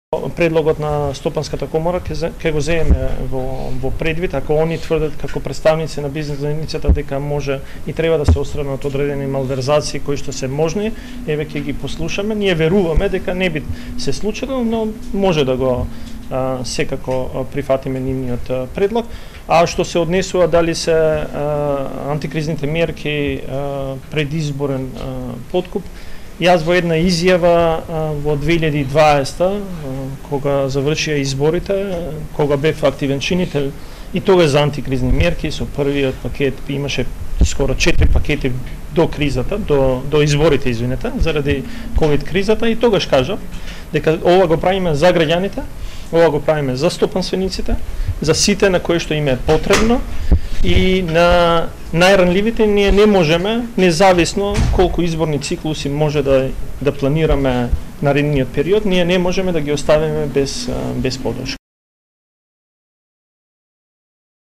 Предлогот на Стопанската комора ќе го земеме во предвид, ако они тврдат како представници на бизнес заедницата дека може и треба да се отстранат одредени малверзации кои што се можни, еве ќе ги послушаме. Ние веруваме дека не би се случило, но може да го секако прифатиме нивниот предлог. А што се однесува дали се антикризните мерки предизборен подкуп, јас во една изјава во 2020, кога завршија изборите, кога бев активен чинител и тогаш за антикризни мерки, со првиот пакет имаше скоро 4 пакети до кризата, до изборите, извинете, заради ковид кризата, и тогаш кажав дека ова го правиме за граѓаните, ова го правиме за стопанствениците, за сите на кои што им е потребно, и на најранливите ние не можеме, независно колку изборни циклуси може да планираме наредниот период, ние не можеме да ги оставиме без подршка.